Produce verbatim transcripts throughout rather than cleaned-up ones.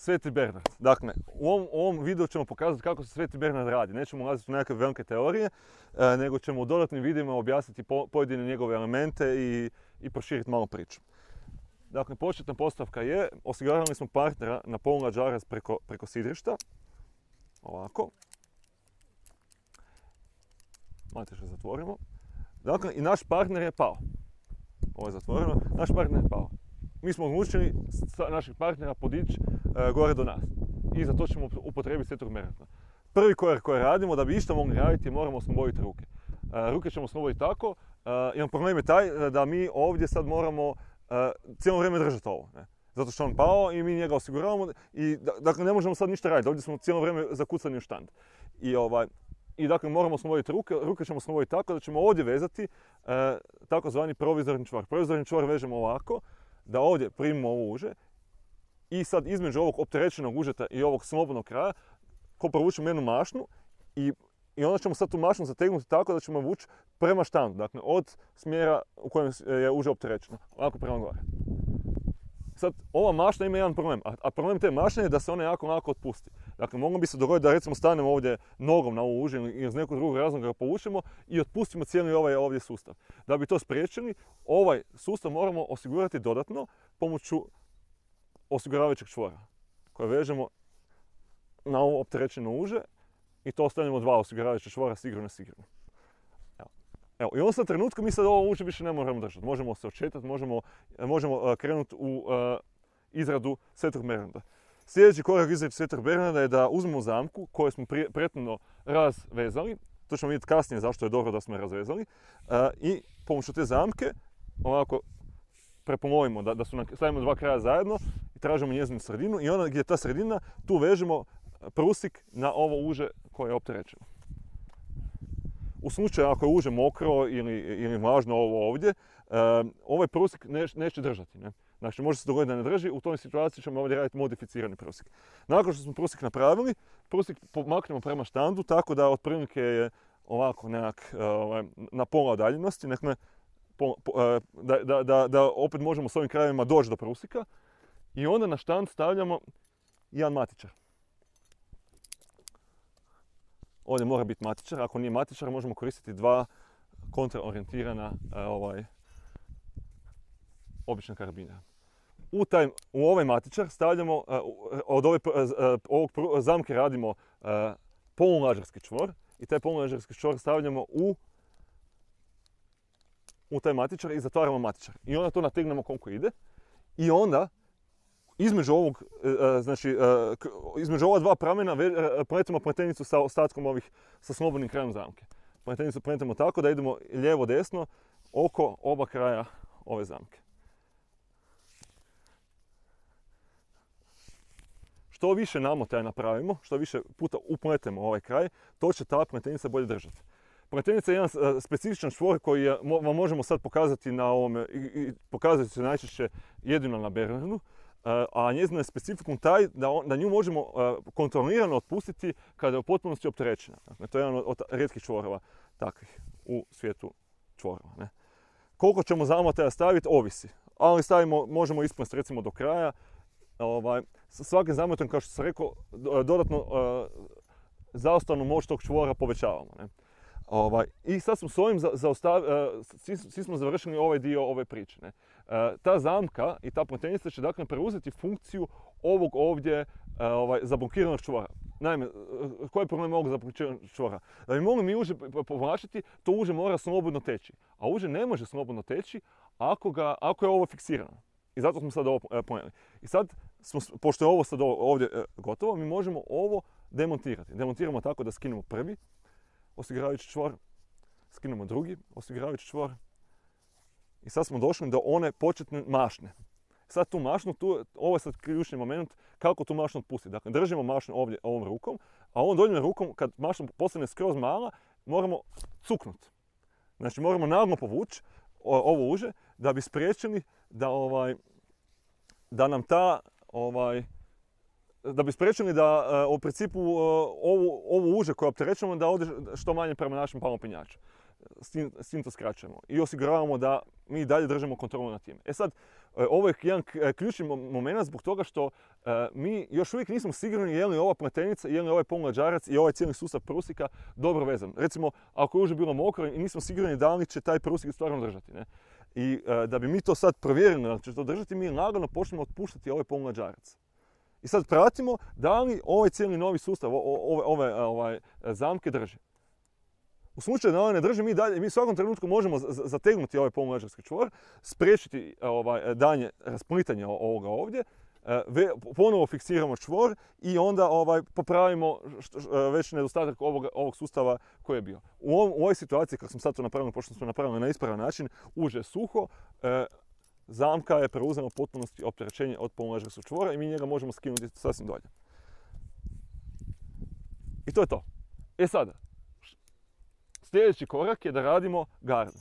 Sveti Bernard. Dakle, u ovom, u ovom videu ćemo pokazati kako se Sveti Bernard radi. Nećemo ulaziti u nekakve velike teorije, e, nego ćemo u dodatnim videima objasniti po, pojedine njegove elemente i, i proširiti malo priču. Dakle, početna postavka je, osiguravali smo partnera na poluna džaraz preko, preko sidrišta. Ovako. Matiš ga zatvorimo. Dakle, i naš partner je pao. Ovo je zatvoreno. Naš partner je pao. Mi smo odlučili našeg partnera podići e, gore do nas. I za to ćemo upotrijebiti Svetog Bernarda. Prvi korak koji radimo, da bi išta mogli raditi, moramo osloboditi ruke. E, ruke ćemo osloboditi tako. E, jedan problem je taj da mi ovdje sad moramo e, cijelo vrijeme držati ovo. Ne? Zato što on pao i mi njega osiguravamo. I, dakle, ne možemo sad ništa raditi. Ovdje smo cijelo vrijeme zakucani u štand. I, ovaj, i dakle, moramo osloboditi ruke. Ruke ćemo osloboditi tako da ćemo ovdje vezati e, takozvani provizorni čvor. Provizorni čvor vežemo ovako, da ovdje primimo ovo uže i sad između ovog opterećenog užeta i ovog slobodnog kraja ko provučemo jednu mašnu i, i onda ćemo sad tu mašnu zategnuti tako da ćemo vući prema štandu, dakle od smjera u kojem je uže opterećeno, ovako prema gore. Sad, ova mašna ima jedan problem, a, a problem te mašne je da se ona jako lako otpusti. Dakle, moglo bi se dogoditi da recimo stanemo ovdje nogom na ovo uže ili iz nekog drugog razloga ga povučemo i otpustimo cijeli ovaj ovdje sustav. Da bi to spriječili, ovaj sustav moramo osigurati dodatno pomoću osiguravajućeg čvora koje vežemo na ovo opterećeno uže i to ostavljamo dva osiguravajuća čvora sigurno sigurno. Evo. Evo, i on sad trenutku mi sad ovo uže više ne moramo držati. Možemo se odšetati, možemo, možemo uh, krenuti u uh, izradu Svetog Bernarda. Sljedeći korak izrade Svetog Bernarda je da uzmemo zamku koju smo prethodno razvezali. To ćemo vidjeti kasnije zašto je dobro da smo je razvezali. Uh, I pomoću te zamke ovako prepomovimo da, da su nam, stavimo dva kraja zajedno i tražimo njezinu sredinu i onda gdje je ta sredina tu vežemo prusik na ovo uže koje je opterećeno. U slučaju ako je uže mokro ili, ili vlažno ovo ovdje, uh, ovaj prusik neš, neće držati. Ne? Znači može se dogoditi da ne drži, u toj situaciji ćemo ovdje raditi modificirani prusik. Nakon što smo prusik napravili, prusik pomaknemo prema štandu tako da otprilike je ovako nekak uh, na pola udaljenosti, dakle, po, po, uh, da, da, da, da opet možemo s ovim krajevima doći do prusika i onda na štand stavljamo jedan matičar. Ovdje mora biti matičar, ako nije matičar možemo koristiti dva kontraorijentirana uh, ovaj, obična karabina. U, taj, u ovaj matičar stavljamo, uh, od ove, uh, ovog zamke radimo uh, polulažarski čvor i taj polulažarski čvor stavljamo u, u taj matičar i zatvaramo matičar. I onda to nategnemo koliko ide i onda između ovog, uh, znači, uh, između ova dva pramena uh, pletemo pletenicu sa ostatkom ovih, sa slobodnim krajem zamke. Pletenicu pletemo tako da idemo lijevo-desno oko oba kraja ove zamke. Što više namotaja napravimo, što više puta upletemo ovaj kraj, to će ta pletenica bolje držati. Pletenica je jedan specifičan čvor koji je, vam možemo sad pokazati na ovome, i, i pokazati se najčešće jedino na Bernardu, a njezina je specifikum taj da, on, da nju možemo kontrolirano otpustiti kada je u potpunosti opterećena. Dakle, to je jedan od rijetkih čvorova takvih u svijetu čvorova. Ne? Koliko ćemo zamotaja staviti, ovisi. Ali stavimo, možemo isplesti recimo do kraja. Ovaj, svakim zamotom, kao što sam rekao, dodatno uh, zaostavnu moć tog čvora povećavamo. Ne? Ovaj, I sad smo s ovim zaostav, uh, svi, svi smo završili ovaj dio ove priče. Ne? Uh, ta zamka i ta pletenica će dakle preuzeti funkciju ovog ovdje uh, ovaj, zablokiranog čvora. Naime, uh, koji je problem ovog zablokiranog čvora? Da bi mogli mi uže povlačiti, to uže mora slobodno teći. A uže ne može slobodno teći ako, ga, ako je ovo fiksirano. I zato smo sad ovo ponijeli. I sad, smo, pošto je ovo sad ovdje gotovo, mi možemo ovo demontirati. Demontiramo tako da skinemo prvi osiguravajući čvor, skinemo drugi osiguravajući čvor i sad smo došli do one početne mašne. Sad tu mašnu, tu, ovo je sad ključni moment kako tu mašnu otpustiti. Dakle, držimo mašnu ovdje ovom rukom, a ovom donjom rukom, kad mašna postane skroz mala, moramo cuknuti. Znači, moramo naglo povući ovo uže da bi spriječili da, ovaj, da nam ta, ovaj, da bi spriječili da u principu ovu, ovu uže koje opterećujemo da ode što manje prema našem palopinjaču. S tim, s tim to skraćujemo i osiguravamo da mi dalje držimo kontrolu nad tim. E sad, ovo je jedan ključni moment zbog toga što mi još uvijek nismo sigurni je li ova pletenica, je li ovaj pomlađarac i ovaj cijeli sustav prusika dobro vezan. Recimo, ako je uže bilo mokro i nismo sigurni da li će taj prusik stvarno držati. Ne? I da bi mi to sad provjerili da će to držati, mi lagano počnemo otpuštati ovaj pomlađarac. I sad pratimo da li ovaj cijeli novi sustav, ove, ove ovaj, zamke drže. U slučaju da ona ne drži, mi, dalje, mi u svakom trenutku možemo zategnuti ovaj pomlađarski čvor, spriječiti ovaj, danje rasplitanje ovoga ovdje, ponovo fiksiramo čvor i onda ovaj, popravimo već nedostatak ovog, ovog sustava koji je bio. U, ovom, u ovoj situaciji, kako sam sad to napravili, pošto smo napravili na ispravan način, uže suho, eh, zamka je preuzela u potpunosti opterećenje od pomlađarskog čvora i mi njega možemo skinuti sasvim dolje. I to je to. E sada, sljedeći korak je da radimo gardu.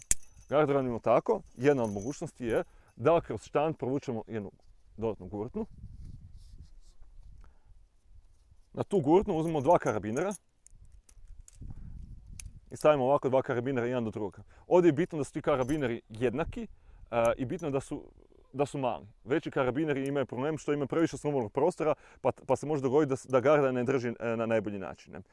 Gardu radimo tako, jedna od mogućnosti je da kroz štand provučemo jednu dodatnu gurtnu. Na tu gurtnu uzmemo dva karabinera i stavimo ovako dva karabinera jedan do drugoga. Ovdje je bitno da su ti karabineri jednaki uh, i bitno da su, da su mali. Veći karabineri imaju problem što imaju previše slobodnog prostora pa, pa se može dogoditi da, da garda ne drži na najbolji način. Ne? Uh,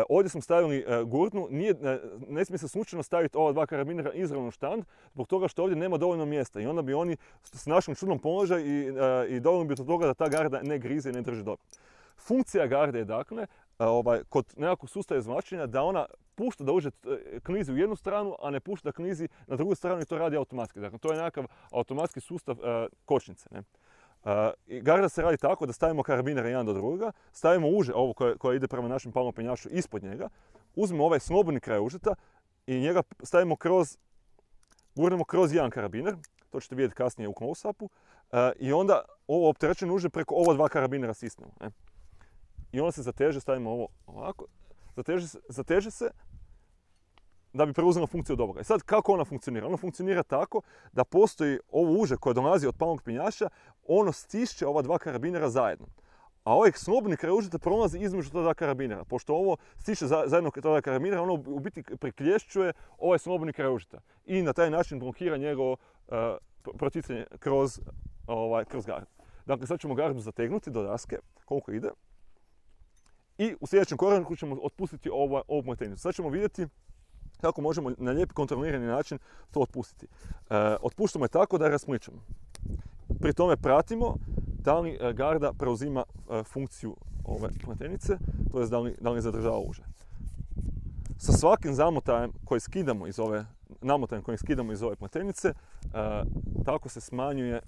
ovdje smo stavili uh, gurtnu, nije, ne, ne smije se slučajno staviti ova dva karabinera izravno u štand zbog toga što ovdje nema dovoljno mjesta i onda bi oni s našim čudnom položaju i, uh, i dovoljno bi do toga da ta garda ne grize i ne drži dobro. Funkcija garde je dakle, uh, ovaj, kod nekakvog sustava izvlačenja da ona pušta da uđe klizi u jednu stranu, a ne pušta da klizi na drugu stranu i to radi automatski. Dakle, to je nekakav automatski sustav uh, kočnice. Ne? Uh, i garda se radi tako da stavimo karabinere jedan do drugoga, stavimo uže, ovo koje, koje ide prema našem palnom penjaču ispod njega, uzmemo ovaj slobodni kraj užeta i njega stavimo kroz, gurnemo kroz jedan karabiner, to ćete vidjeti kasnije u close-upu, uh, i onda ovo opterećeno uže preko ova dva karabinera stisnemo. Ne? I onda se zateže, stavimo ovo ovako, zateže se, zateže se da bi preuzela funkciju od ovoga. I sad kako ona funkcionira? Ona funkcionira tako da postoji ovo uže koje dolazi od palnog penjača, ono stišće ova dva karabinera zajedno. A ovaj slobodni kraj užeta prolazi između ta dva karabinera. Pošto ovo stiče zajedno ta dva karabinera, ono u biti priklješćuje ovaj slobodni kraj užeta. I na taj način blokira njegovo uh, proticanje kroz, ovaj, kroz gardu. Dakle, sad ćemo gardu zategnuti do daske, koliko ide. I u sljedećem koraku ćemo otpustiti ovu, ovu pletenicu. Sad ćemo vidjeti kako možemo na lijep kontrolirani način to otpustiti. E, otpuštamo je tako da je raspličemo. Pri tome pratimo da li garda preuzima e, funkciju ove pletenice, to je da li, da li zadržava uže. Sa svakim zamotajem koji skidamo iz ove, namotajem koji skidamo iz ove pletenice, e, tako se smanjuje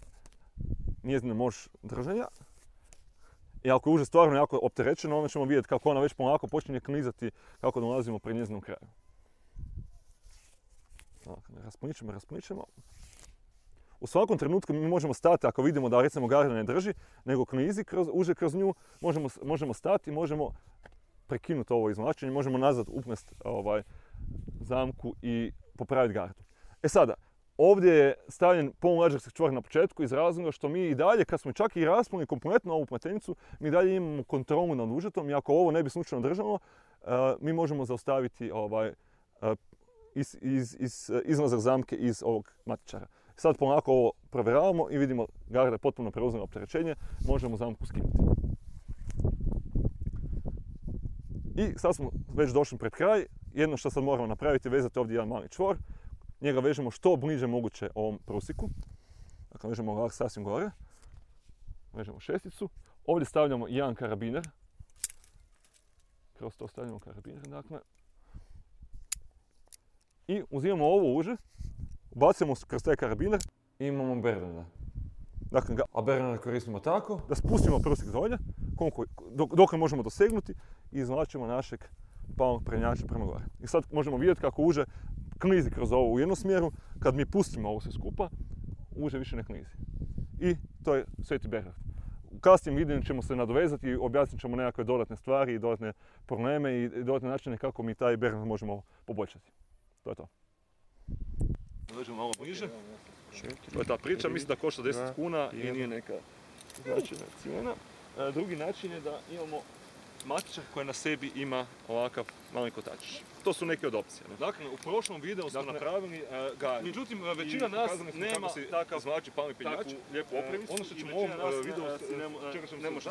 njezina moć držanja. I ako je uže stvarno jako opterećeno, onda ćemo vidjeti kako ona već polako počinje klizati kako dolazimo pri njezinom kraju. Dakle, raspličemo, raspličemo. U svakom trenutku mi možemo stati, ako vidimo da recimo garda ne drži, nego klizi kroz, uže kroz nju, možemo, možemo stati, možemo prekinuti ovo izvlačenje, možemo nazad upnesti ovaj, zamku i popraviti gardu. E sada, ovdje je stavljen pomlađarski čvor na početku iz razloga što mi i dalje, kad smo čak i rasplili kompletno ovu pletenicu, mi dalje imamo kontrolu nad užetom i ako ovo ne bi slučajno držalo, uh, mi možemo zaustaviti ovaj, uh, iz, iz, iz, izlazak zamke iz ovog matičara. Sad polako ovo provjeravamo i vidimo garda je potpuno preuzela opterećenje, možemo zamku skinuti. I sad smo već došli pred kraj, jedno što sad moramo napraviti je vezati ovdje jedan mali čvor. Njega vežemo što bliže moguće ovom prusiku. Dakle, vežemo ovako sasvim gore. Vežemo šesticu. Ovdje stavljamo jedan karabiner. Kroz to stavljamo karabiner, dakle. I uzimamo ovo uže, ubacujemo kroz taj karabiner i imamo Bernarda. Dakle, a Bernarda koristimo tako da spustimo prusik dolje, dok, dok možemo dosegnuti i izvlačimo našeg palnog penjača prema gore. I sad možemo vidjeti kako uže klizi kroz ovo u jednu smjeru, kad mi pustimo ovo sve skupa, uže više ne klizi. I to je Sveti Bernard. U kasnijem videu ćemo se nadovezati i objasnit ćemo nekakve dodatne stvari i dodatne probleme i dodatne načine kako mi taj Bernard možemo poboljšati. To je to. Dođemo malo bliže. To je ta priča, mislim da košta deset kuna i nije neka značajna cijena. Drugi način je da imamo matičar koji na sebi ima ovakav mali kotačić. to su neke od opcija. Dakle, u prošlom videu smo napravili garnir. Međutim, većina nas nema takav znači palmi piljač, lijepu opremicu. Ono što ćemo u ovom videu, čega ćemo se